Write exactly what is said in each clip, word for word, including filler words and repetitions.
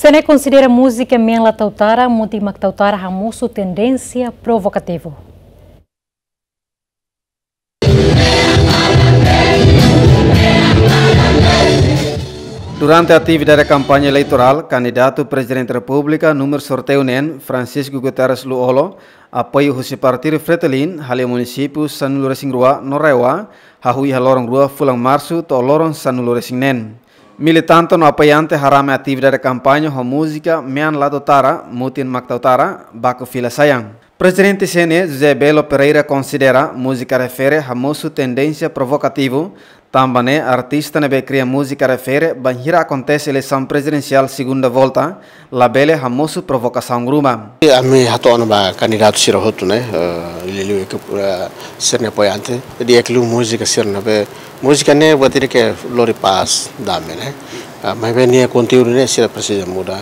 Ne'e konsidera múzika mean la tau tara, mutin mak tau tara hamosu tendénsia provokativu. Durante atividade kampaña eleitorál, kandidatu Prezidente Repúblika númeru sorteiu neen, Francisco Guterres Lú-Olo, apoiu husi partidu Fretilin, haleu munisípiu sanulu-resin-rua no RAEOA, hahú iha loron rua fulan Marsu to'o loron sanulu-resin-neen. Militante no apoiante harame atividade kampaña ho múzika mean la tau tara, mutin mak tau tara, baku fila sayang. Prezidente C N E José Belo Pereira konsidera múzika refere hamosu tendénsia provokativu, tanba ne'e artista ne'ebé kria múzika refere bainhira akontese eleisaun prezidensiál segunda volta, labele hamosu provokasaun ruma. Ami hato'o ona ba kandidatu sira hotu ne'e, eh, liuliu ke, eh, sira-nia apoiante. Di'ak liu múzika sira ne'ebé, múzika ne'e buat ida ke lori pás, dame ne'e. Ah, maibé nia konteúdu ne'e sira presiza muda.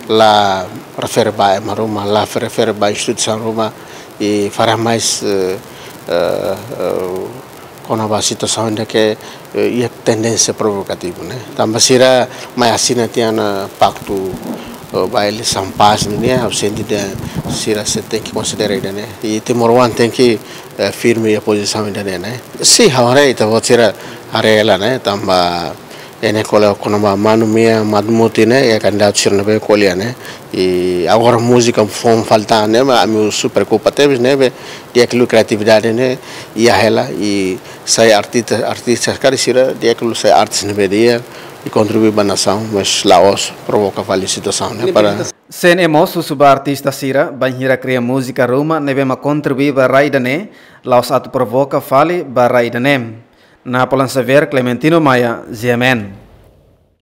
La refere ba ema ruma, la refere ba instituisaun ruma, i fahe mais, eh, eh, eh, kona-ba situasaun ida ke, eh, iha tendénsia provokativu ne'e. Tanba sira mai asina tiha ona paktu, eh, ba eleisaun pás ne'e, ha'u sente sira sei tenke konsidera ida ne'e. I timoroan tenke, eh, firme iha pozisaun ida ne'e, ne'e. Sin, ha'u haree ita-boot sira haree hela ne'e, tanba ene kole kona-ba manu mia, manu mutin ne'e, iha kandidatu sira ne'ebé ko'alia ne'e. I agora múzika foun falta ne'e, maibé ami husu preokupa tebes ne'ebé, di'ak liu kriatividade ne'e iha hela, i sai artista, artista karik sira di'ak liu sai artis ne'ebé di'ak, i kontribui ba nasaun, mas la'ós provoka fali situasaun ne'e para. C N E mós husu ba artista sira, bainhira kria múzika ruma ne'ebé mak kontribui ba rai ida-ne'e, la'ós atu provoka fali ba rai ida-ne'e. Napoleon Xavier, Clementino Maia, G M N.